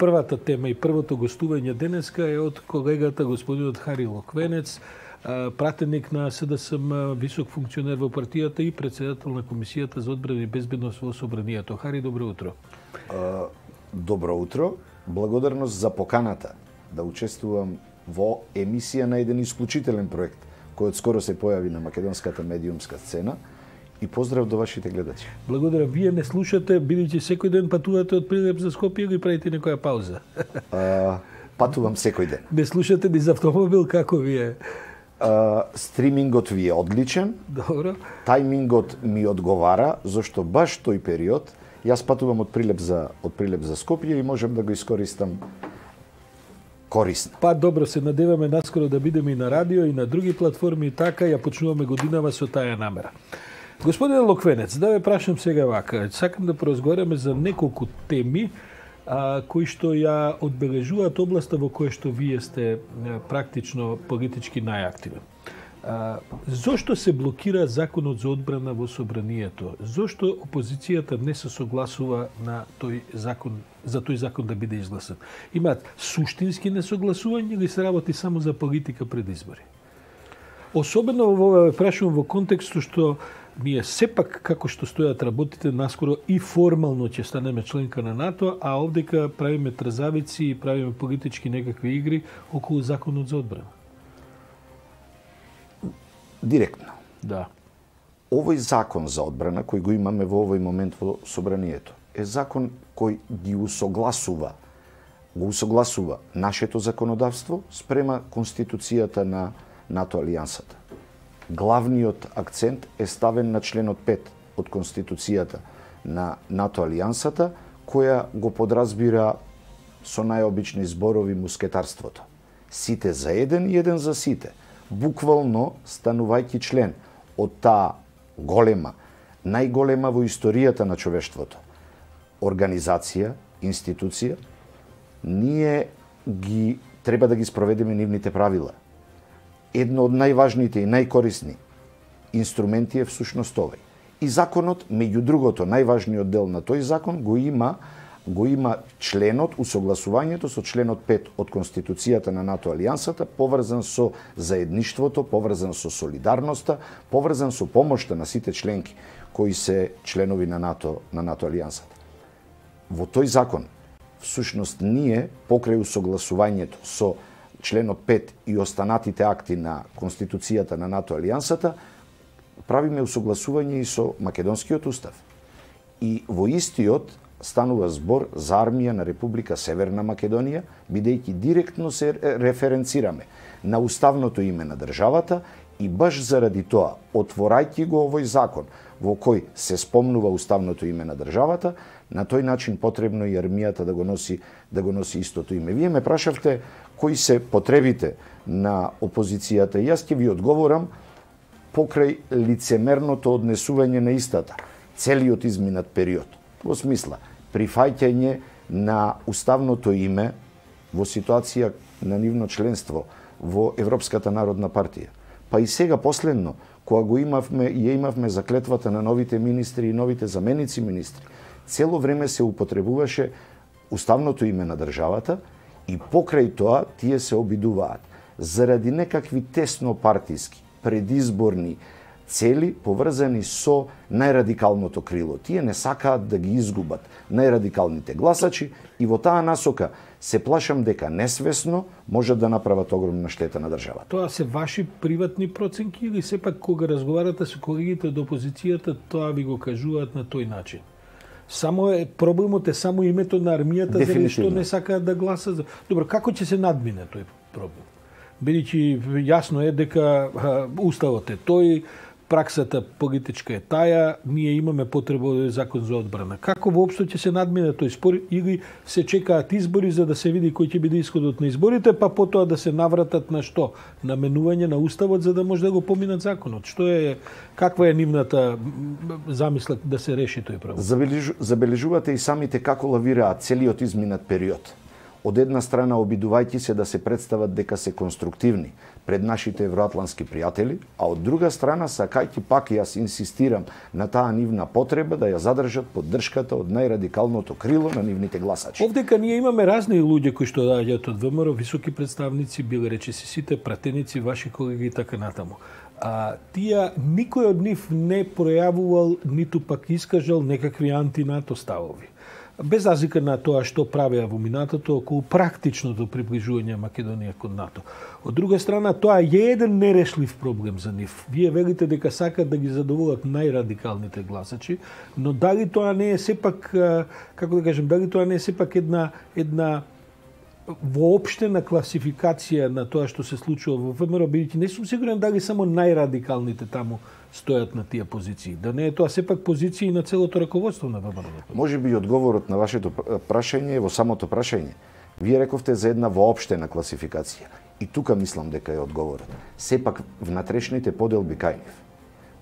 Првата тема и првото гостување денеска е од колегата господинот Хари Локвенец, пратеник на СДСМ, висок функционер во партијата и председател на Комисијата за одбрана и безбедност во Собранието. Хари, добро утро. Добро утро. Благодарност за поканата да учествувам во емисија на еден исклучителен проект кој скоро се појави на македонската медиумска сцена. И поздрав до вашите гледачи. Благодарам. Вие не слушате, бидејќи секој ден патувате од Прилеп за Скопје или правите некоја пауза? Патувам секој ден. Не слушате низ автомобил, како ви е? Стримингот ви е одличен. Добро. Тајмингот ми одговара, зашто баш тој период јас патувам од Прилеп за Скопје и можем да го искористам корисно. Па добро, се надеваме наскоро да бидеме и на радио и на други платформи и така, ја почнуваме годинава со таа намера. Господин Локвенец, да ве прашам сега вака. Сакам да поразговараме за неколку теми кои што ја одбележуваат областа во која што вие сте практично политички најактивен. Зошто се блокира законот за одбрана во Собранието? Зошто опозицијата не се согласува на тој закон, за тој закон да биде изгласен? Имаат суштински несогласување или се работи само за политика пред избори? Особено во ве прашувам во контексту што ние сепак, како што стојат работите, наскоро и формално ќе станеме членка на НАТО, а овдека правиме трзавици и правиме политички некакви игри околу законот за одбрана. Директно. Да. Овој закон за одбрана, кој го имаме во овој момент во Собранието, е закон кој го усогласува нашето законодавство спрема Конституцијата на НАТО алијансата. Главниот акцент е ставен на членот 5 од Конституцијата на НАТО алијансата, која го подразбира со најобични зборови мускетарството. Сите за еден и еден за сите. Буквално станувајќи член од таа голема, најголема во историјата на човештвото, организација, институција, ние треба да ги спроведеме нивните правила. Едно од најважните и најкорисни инструменти е всушност овој. И законот, меѓу другото, најважниот дел на тој закон го има членот, усогласувањето со членот 5 од Конституцијата на НАТО алијансата, поврзан со заедништвото, поврзан со солидарноста, поврзан со помошта на сите членки кои се членови на НАТО алијансата. Во тој закон, всушност ние покрај усогласувањето со членот 5 и останатите акти на Конституцијата на НАТО алијансата, правиме усогласување и со македонскиот устав. И во истиот станува збор за армија на Република Северна Македонија, бидејќи директно се референцираме на уставното име на државата и баш заради тоа, отворајќи го овој закон во кој се спомнува уставното име на државата, на тој начин потребно и армијата да го носи истото име. Вие ме прашавте кои се потребите на опозицијата и јас ќе ви одговорам покрај лицемерното однесување на истата целиот изминат период. Во смисла, прифаќање на уставното име во ситуација на нивно членство во Европската народна партија. Па и сега последно, кога ја имавме заклетвата на новите министри и новите заменици министри, цело време се употребуваше уставното име на државата и покрај тоа тие се обидуваат заради некакви тесно партиски, предизборни цели поврзани со најрадикалното крило. Тие не сакаат да ги изгубат најрадикалните гласачи и во таа насока се плашам дека несвесно можат да направат огромна штета на државата. Тоа се ваши приватни проценки или сепак кога разговарате со колегите од опозицијата, тоа ви го кажуваат на тој начин? Само проблемот е само името на армијата, заради што не сакаат да гласат. Добро, како ќе се надмине тој проблем? Бидејќи јасно е дека уставот е тој, праксата политичка е таја, ние имаме потреба од закон за одбрана. Како воопшто ќе се надмине тој спор или се чекаат избори за да се види кој ќе биде исходот на изборите, па потоа да се навратат на што? На менување на уставот за да може да го поминат законот. Каква е нивната замисла да се реши тој проблем? Забележувате и самите како лавираат целиот изминат период. од една страна обидувајќи се да се представат дека се конструктивни пред нашите евроатлански пријатели, а од друга страна сакајќи пак јас инсистирам на таа нивна потреба да ја задржат поддршката од најрадикалното крило на нивните гласачи. Овдека ние имаме разни луѓе кои што доаѓаат од ВМРО, високи представници, биле речиси сите пратеници, ваши колеги и така натаму. Тие никој од нив не пројавувал, ниту пак искажал некакви антинато ставови. Без разлика на тоа што правеа во минатото околу практичното приближување Македонија кон НАТО. Од друга страна, тоа е еден нерешлив проблем за нив. Вие велите дека сакат да ги задоволат најрадикалните гласачи, но дали тоа не е сепак, како да кажем, дали тоа не е сепак една воопштена класификација на тоа што се случува во ВМРО, бидејќи не сум сигурен дали само најрадикалните таму стојат на тие позиции. Да не е тоа сепак позиции на целото раководство на ВМРО. Може би одговорот на вашето прашање е во самото прашање. Вие рековте за една воопштена класификација. И тука мислам дека е одговорот. Сепак внатрешните поделби кај нив.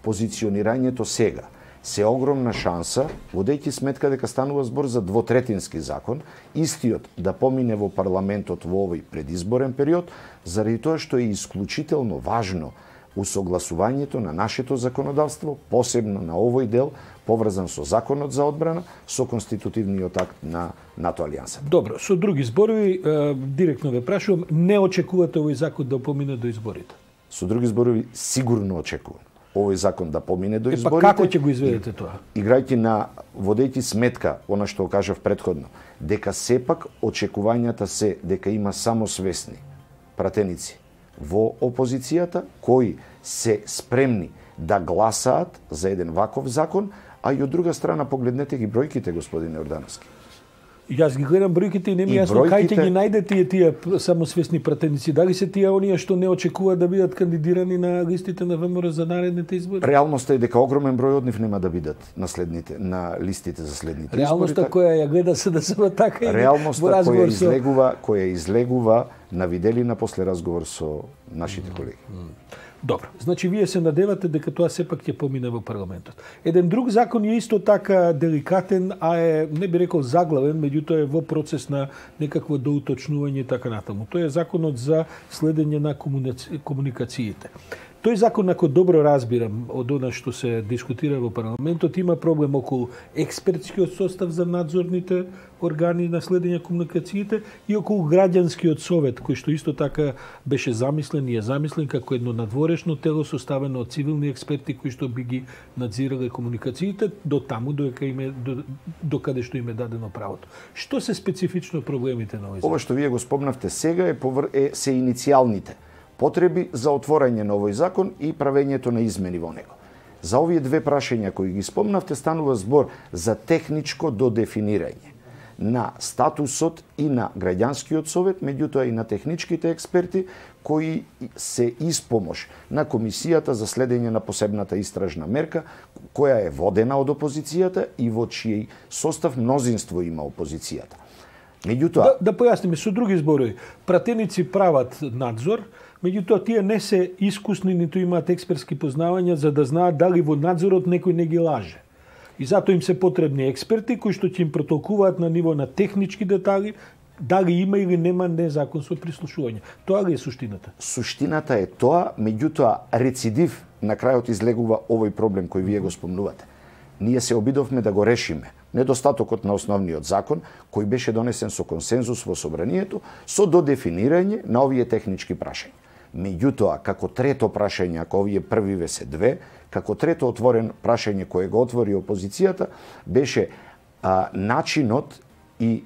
Позиционирањето сега се огромна шанса, водејќи сметка дека станува збор за двотретински закон, истиот да помине во парламентот во овој предизборен период, заради тоа што е исклучително важно усогласувањето на нашето законодавство, посебно на овој дел, поврзан со Законот за одбрана, со конститутивниот акт на НАТО алијанса. Добро, со други зборови, директно ве прашувам, не очекувате овој закон да помине до изборите? Со други зборови, сигурно очекувам овој закон да помине до изборите. Па како ќе го изведете тоа? Играјќи на, водејќи сметка, она што кажав претходно, дека сепак очекувањата се дека има само свесни пратеници во опозицијата кои се спремни да гласаат за еден ваков закон, а и од друга страна погледнете ги бројките, господин Јордановски. Јас ги гледам бројките и не ми јасно кај ќе ги најдете тие самосвесни пратеници. Дали се тие оние што не очекуваат да бидат кандидирани на листите на ВМРО за наредните избори? Реалноста е дека огромен број од нив нема да бидат на листите за следните избори. Реалноста која ја гледа СДСМ така и реалноста која излегува на виделина после разговор со нашите колеги. Добро, значи вие се надевате дека тоа сепак ќе помине во парламентот. Еден друг закон е исто така деликатен, а е, не би рекол заглавен, меѓутоа е во процес на некакво доуточнување и така натаму. Тоа е законот за следење на комуникациите. Тој закон, ако добро разбирам од она што се дискутира во парламентот, има проблем околу експертскиот состав за надзорните органи на следење комуникациите и околу граѓанскиот совет, кој што исто така беше замислен и е замислен како едно надворешно тело составено од цивилни експерти кои што би ги надзирале комуникациите до таму до каде што им е дадено правото. Што се специфично проблемите на овој закон? Ова што вие го спомнавте сега се иницијалните потреби за отворање на овој закон и правењето на измени во него. За овие две прашања кои ги спомнавте станува збор за техничко додефинирање на статусот и на граѓанскиот совет, меѓутоа и на техничките експерти кои се испомош на Комисијата за следење на посебната истражна мерка, која е водена од опозицијата и во чиј состав мнозинство има опозицијата. Меѓутоа, да појасниме со други зборови, пратеници прават надзор, меѓутоа тие не се искусни, ниту имаат експертски познавања за да знаат дали во надзорот некој не ги лаже. И затоа им се потребни експерти кои што ќе им протолкуваат на ниво на технички детали дали има или нема незаконско прислушување. Тоа ли е суштината? Суштината е тоа, меѓутоа рецидив на крајот излегува овој проблем кој вие го спомнувате. Ние се обидовме да го решиме недостатокот на основниот закон, кој беше донесен со консензус во собранието, со додефинирање на овие технички прашања. Меѓутоа, како трето прашање, ако овие првиве се две, како трето отворен прашање кое го отвори опозицијата, беше начинот и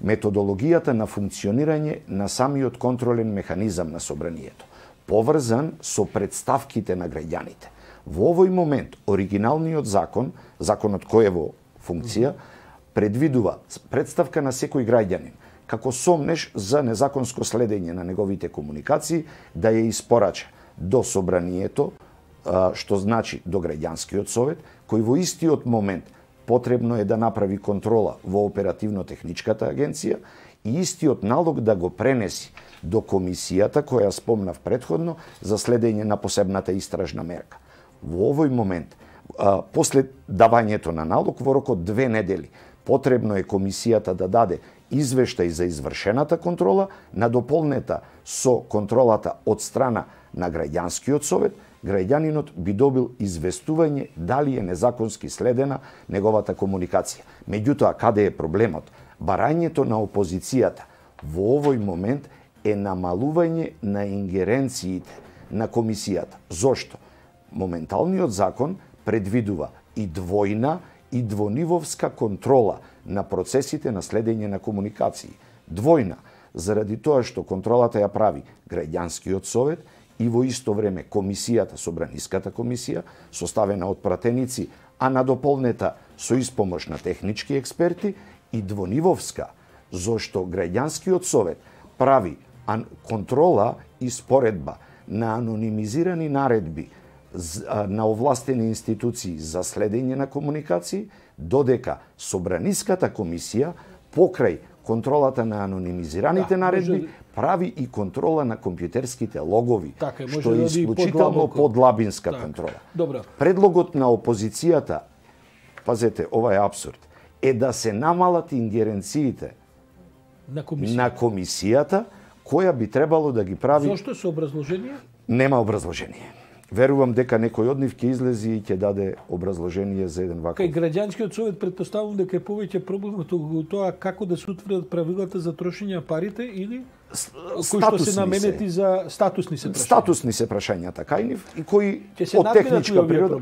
методологијата на функционирање на самиот контролен механизам на собранието, поврзан со представките на граѓаните. Во овој момент, оригиналниот закон, законот кој е во функција, предвидува представка на секој граѓанин, како сомнеш за незаконско следење на неговите комуникации, да ја испорача до собранието, што значи до граѓанскиот совет, кој во истиот момент потребно е да направи контрола во оперативно-техничката агенција и истиот налог да го пренеси до комисијата, која спомнав претходно, за следење на посебната истражна мерка. Во овој момент, после давањето на налог, во рокот 2 недели, потребно е комисијата да даде извештај за извршената контрола, надополнета со контролата од страна на граѓанскиот совет, граѓанинот би добил известување дали е незаконски следена неговата комуникација. Меѓутоа, каде е проблемот? Барањето на опозицијата во овој момент е намалување на ингеренциите на комисијата. Зошто? Моменталниот закон предвидува и двојна и двонивовска контрола на процесите на следење на комуникации. Двојна, заради тоа што контролата ја прави граѓанскиот совет и во исто време комисијата, Собраниската комисија, составена од пратеници, а надополнета со испомош на технички експерти, и двонивовска, зошто граѓанскиот совет прави контрола и споредба на анонимизирани наредби на овластени институции за следење на комуникации, додека Собраниската комисија покрај контролата на анонимизираните наредби прави и контрола на компјутерските логови, што е исклучително подлабинска контрола. Добро. Предлогот на опозицијата, пазете, ова е апсурд, е да се намалат ингеренциите на комисијата, која би требало да ги прави... Зошто со образложение? Нема образложение. Верувам дека некој од нив ќе излези и ќе даде образложение за еден ваков. Кај граѓанскиот совет претпоставувам дека е повеќе проблемот во тоа како да се утврдат правилата за трошење на парите или кои што се наменети за статусни се прашања. Статусни се прашањата кај нив и кои од техничка природа.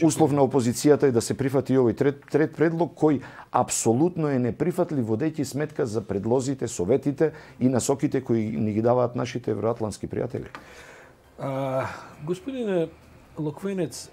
Услов на опозицијата е да се прифати овој трет предлог кој апсолутно е неприфатлив водејќи сметка за предлозите, советите и насоките кои ни ги даваат нашите евроатлански пријатели. Господине Локвенец,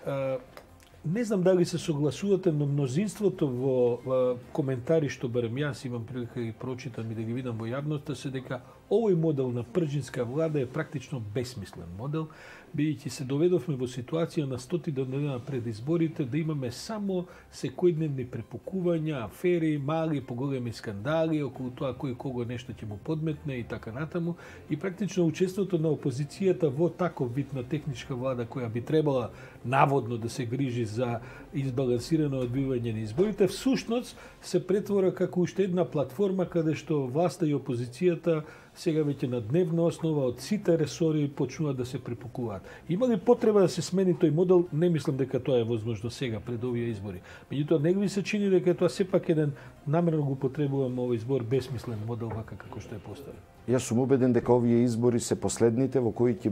не знам дали се согласувате, но мнозинството во коментари што барем јас имам прилика да ги прочитам и да ги видам во јавноста се дека овој модел на пржинска влада е практично бесмислен модел, бидејќи се доведовме во ситуација на 100 дена пред изборите да имаме само секојдневни препукувања, афери, мали, поголеми скандали околу тоа кој кого нешто ќе му подметне и така натаму. И практично учеството на опозицијата во таков вид на техничка влада која би требала наводно да се грижи за избалансирано одбивање на изборите, всушност се претвора како уште една платформа каде што власта и опозицијата сега веќе на дневна основа од сите ресори почнуваат да се препукуваат. Има ли потреба да се смени тој модел? Не мислам дека тоа е возможно сега пред овие избори. Меѓутоа, не ви се чини дека тоа сепак еден намерно го потребувам овој избор бесмислен модел вака како што е поставен? Јас сум убеден дека овие избори се последните во кои ќе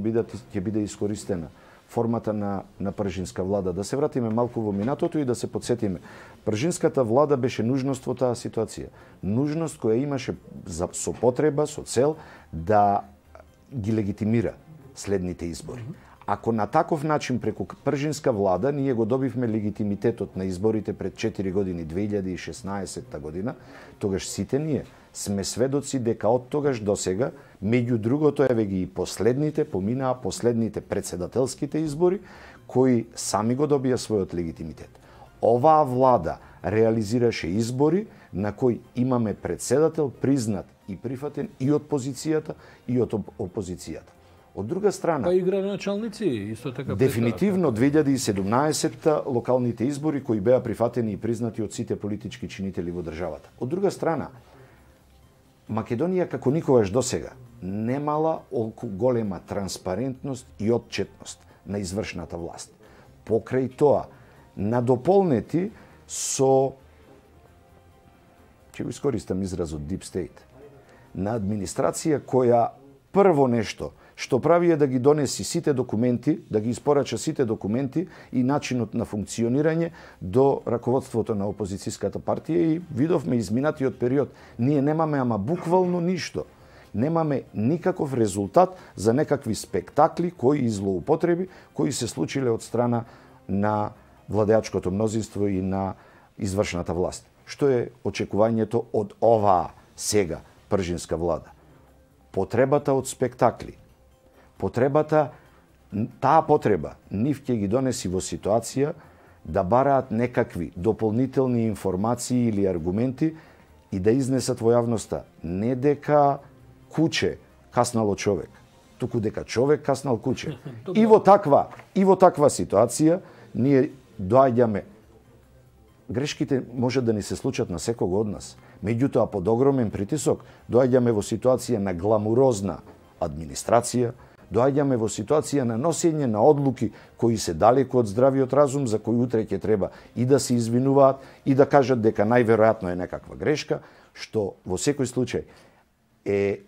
биде искористена формата на пржинска влада. Да се вратиме малку во минатото и да се подсетиме. Пржинската влада беше нужност во таа ситуација. Нужност која имаше со потреба, со цел да ги легитимира следните избори. Ако на таков начин преку пржинска влада ние го добивме легитимитетот на изборите пред 4 години, 2016 година, тогаш сите ние сме сведоци дека од тогаш до сега, меѓу другото еве ги и поминаа последните председателските избори, кои сами го добија својот легитимитет. Оваа влада реализираше избори на кои имаме председател признат и прифатен и од позицијата и од опозицијата. Од друга страна, па и градоначалници исто така. Дефинитивно 2017 локалните избори кои беа прифатени и признати од сите политички чинители во државата. Од друга страна, Македонија како никогаш досега немала олку голема транспарентност и отчетност на извршната власт. Покрај тоа, надополнети со, ќе го искористам изразот deep state, на администрација која прво нешто што прави е да ги донеси сите документи, да ги испорача сите документи и начинот на функционирање до раководството на опозицијската партија и видовме изминатиот период. Ние немаме ама буквално ништо. Немаме никаков резултат за некакви спектакли кои злоупотреби кои се случиле од страна на владеачкото мнозинство и на извршната власт. Што е очекувањето од оваа сега пржинска влада? Потребата од спектакли. Таа потреба нив ќе ги донеси во ситуација да бараат некакви дополнителни информации или аргументи и да изнесат во јавноста не дека куче каснало човек, туку дека човек каснал куче. И во таква ситуација ние доаѓаме грешките може да ни се случат на секого од нас. Меѓутоа, под огромен притисок, доаѓаме во ситуација на гламурозна администрација, доаѓаме во ситуација на носење на одлуки кои се далеку од здравиот разум, за кои утре ќе треба и да се извинуваат и да кажат дека најверојатно е некаква грешка, што во секој случај е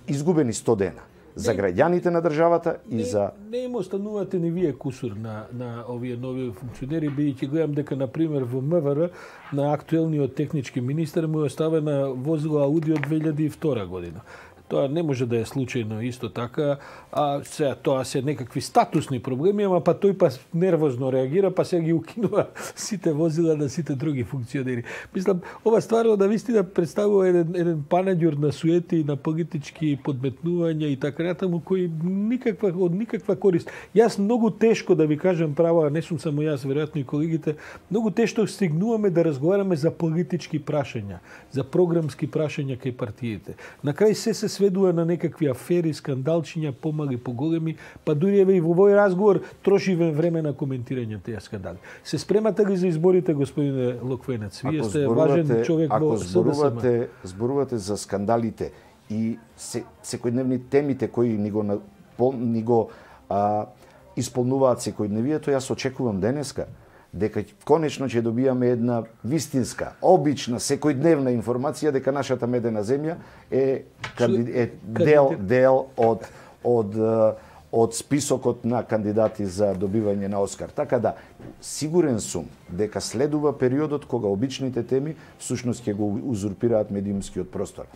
изгубени 100 дена за граѓаните на државата и за... Не им останувате ни вие кусур на овие нови функционери, бидејќи гледам дека, например, во МВР на актуелниот технички министер му е оставена возило Ауди од 2002 година. Тоа не може да е случајно исто така, а сега тоа се некакви статусни проблеми, ама па тој па нервозно реагира, па се ги укинува сите возила на сите други функционери. Мислам, ова стварно да вистина представува еден панаѓур на суети, на политички подметнувања и така натаму, кои од никаква корист. Јас многу тешко, да ви кажам право, а не сум само јас, веројатно и колегите, многу тешко стигнуваме да разговараме за политички прашања, за програмски прашања кај партиите. На крај се сведува на некакви афери, скандалчиња, помали, поголеми, па дури еве и во овој разговор трошиве време на коментирање тие скандали. Се спремате ли за изборите, господине Локвенец? Вие сте важен човек во СДСМ. Ако зборувате за скандалите и секојдневни темите кои ни го исполнуваат секојдневието, јас очекувам денеска дека конечно ќе добијаме една вистинска, обична, секојдневна информација дека нашата медена земја е дел од списокот на кандидати за добивање на Оскар. Така да, сигурен сум дека следува периодот кога обичните теми всушност ќе го узурпираат медиумскиот простор.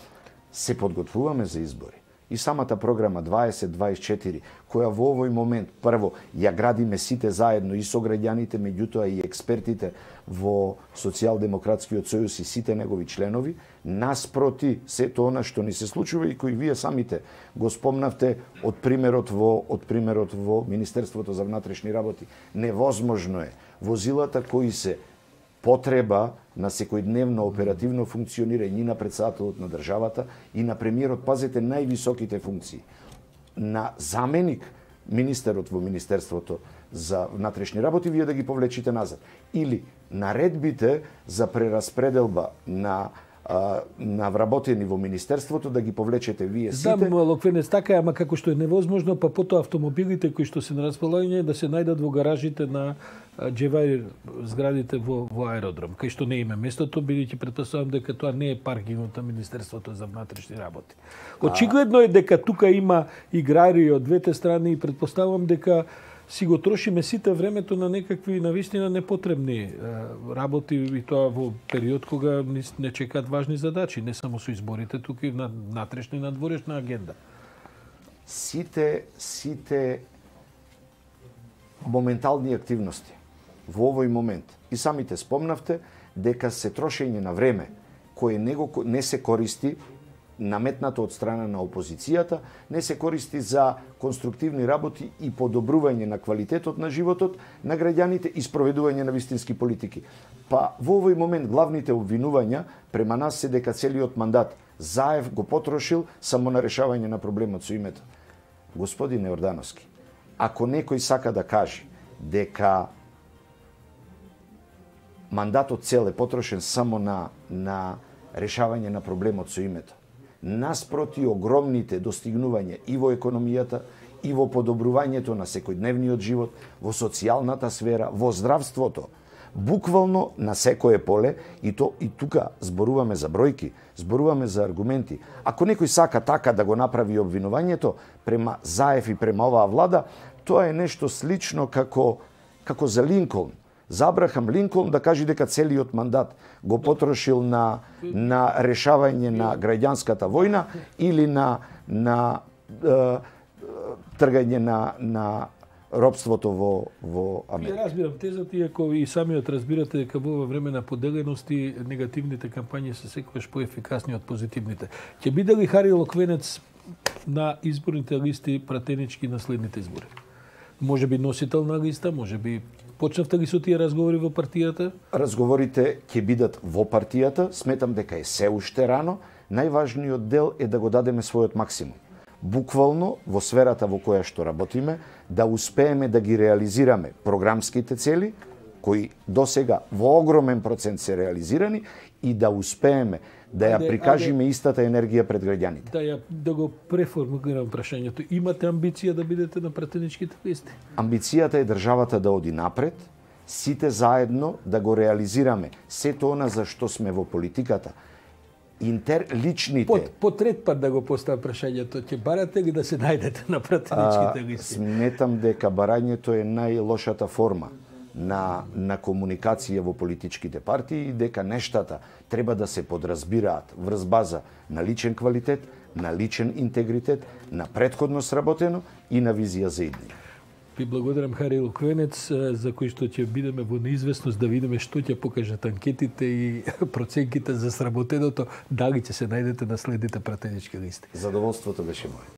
Се подготвуваме за избори. И самата програма 2024, која во овој момент, прво, ја градиме сите заедно и со граѓаните, меѓутоа и експертите во Социјалдемократскиот сојуз и сите негови членови, наспроти сето она што ни се случува и кои вие самите го спомнавте од примерот во Министерството за внатрешни работи. Невозможно е возилата кои се потреба на секојдневно оперативно функционирање и на претседателот на државата и на премиерот, пазете највисоките функции, на заменик министерот во Министерството за внатрешни работи, вие да ги повлечите назад. Или наредбите за прераспределба на вработени во Министерството да ги повлечете вие сите. Знам, Локвенец, така е, ама како што е невозможно, па потоа автомобилите кои што се на располагање да се најдат во гаражите на Джевари зградите во аеродром, кај што не има местото, бидејќи претпоставам дека тоа не е паркингот на Министерството за внатрешни работи. Очигледно е дека тука има играри од двете страни и претпоставам дека си го трошиме сите времето на некакви навистина непотребни работи и тоа во период кога не чекаат важни задачи, не само со изборите, тука и на натрешна и надворешна агенда. Сите моментални активности во овој момент и самите спомнавте дека се трошење на време кое не се користи наметнато од страна на опозицијата, не се користи за конструктивни работи и подобрување на квалитетот на животот на граѓаните и спроведување на вистински политики. Па во овој момент главните обвинувања према нас се дека целиот мандат Заев го потрошил само на решавање на проблемот со името. Господине Ордановски, ако некој сака да каже дека мандатот цел е потрошен само на решавање на проблемот со името, наспроти огромните достигнувања и во економијата, и во подобрувањето на секојдневниот живот, во социјалната сфера, во здравството, буквално на секое поле, и тука зборуваме за бројки, зборуваме за аргументи. Ако некој сака така да го направи обвинувањето према Заев и према оваа влада, тоа е нешто слично како за Линколн. За Абрахам Линколн да каже дека целиот мандат го потрошил на решавање на граѓанската војна или на тргање на робството во Америка. Ја разбирам тезата, иако и самиот разбирате дека во ова време на поделености негативните кампањи се секогаш поефикасни од позитивните. Ќе биде ли Хари Локвенец на изборните листи пратенички на следните избори? Може би носител на листа, може би почнавте ли со тие разговори во партијата? Разговорите ќе бидат во партијата, сметам дека е се уште рано. Најважниот дел е да го дадеме својот максимум. Буквално во сферата во која што работиме, да успееме да ги реализираме програмските цели кои досега во огромен процент се реализирани и да успееме да ја прикажеме истата енергија пред граѓаните. Да го преформулирам прашањето. Имате амбиција да бидете на пратеничките листи? Амбицијата е државата да оди напред, сите заедно да го реализираме сето она за што сме во политиката. Личните... По трет пат да го поставам прашањето, ќе барате ли да се најдете на пратеничките листи? Сметам дека барањето е најлошата форма на комуникација во политичките партии и дека нештата треба да се подразбираат врз база на личен квалитет, на личен интегритет, на претходно сработено и на визија за иднина. Ви благодарам, Хари Луквенец, за кој што ќе бидеме во неизвестност да видиме што ќе покажат анкетите и проценките за сработеното, дали ќе се најдете на следните пратенички листи. Задоволството беше моје.